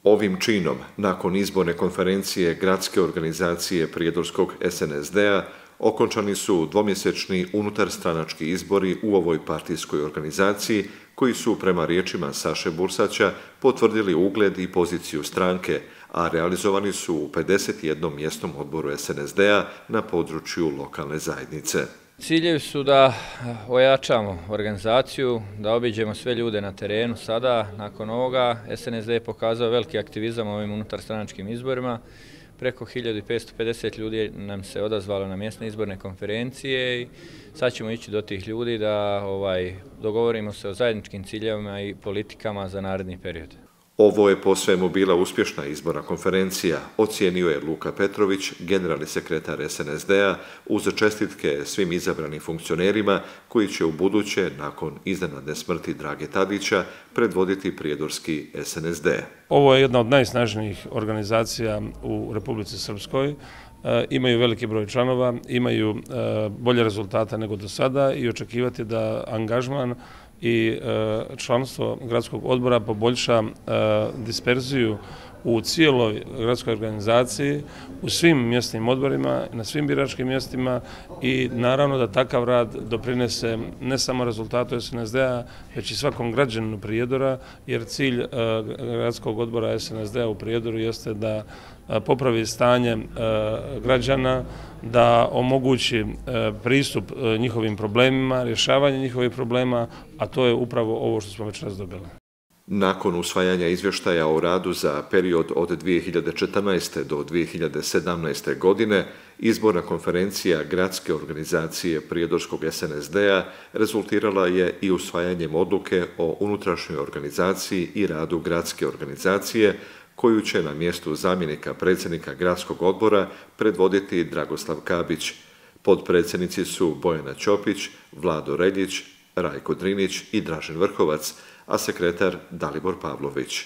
Ovim činom, nakon izborne konferencije Gradske organizacije Prijedorskog SNSD-a, okončani su dvomjesečni unutarstranački izbori u ovoj partijskoj organizaciji, koji su, prema riječima Saše Bursaća, potvrdili ugled i poziciju stranke, a realizovani su u 51. mjesnom odboru SNSD-a na području lokalne zajednice. Ciljevi su da ojačamo organizaciju, da obiđemo sve ljude na terenu sada. Nakon ovoga SNSD je pokazao veliki aktivizam u ovim unutarstranačkim izborima. Preko 1550 ljudi nam se odazvalo na mjesne izborne konferencije i sad ćemo ići do tih ljudi da dogovorimo se o zajedničkim ciljevima i politikama za naredni period. Ovo je po svemu bila uspješna izborna konferencija, ocijenio je Luka Petrović, generalni sekretar SNSD-a, uz čestitke svim izabranim funkcionerima koji će u buduće, nakon iznenadne smrti Drage Tadića, predvoditi prijedorski SNSD. Ovo je jedna od najsnažnijih organizacija u Republici Srpskoj. Imaju veliki broj članova, imaju bolje rezultate nego do sada i očekivati da angažman i članstvo gradskog odbora poboljša disperziju u cijeloj gradskoj organizaciji, u svim mjesnim odborima, na svim biračkim mjestima i naravno da takav rad doprinese ne samo rezultatu SNSD-a, već i svakom građaninu Prijedora, jer cilj gradskog odbora SNSD-a u Prijedoru jeste da popravi stanje građana, da omogući pristup njihovim problemima, rješavanje njihovih problema, a to je upravo ovo što smo večeras dobili. Nakon usvajanja izvještaja o radu za period od 2014. do 2017. godine, izborna konferencija Gradske organizacije Prijedorskog SNSD-a rezultirala je i usvajanjem odluke o unutrašnjoj organizaciji i radu Gradske organizacije, koju će na mjestu zamjenika predsjednika Gradskog odbora predvoditi Dragoslav Kabić. Potpredsjednici su Bojana Ćopić, Vlado Reljić, Rajko Drinić i Dražen Vrhovac, a sekretar Dalibor Pavlović.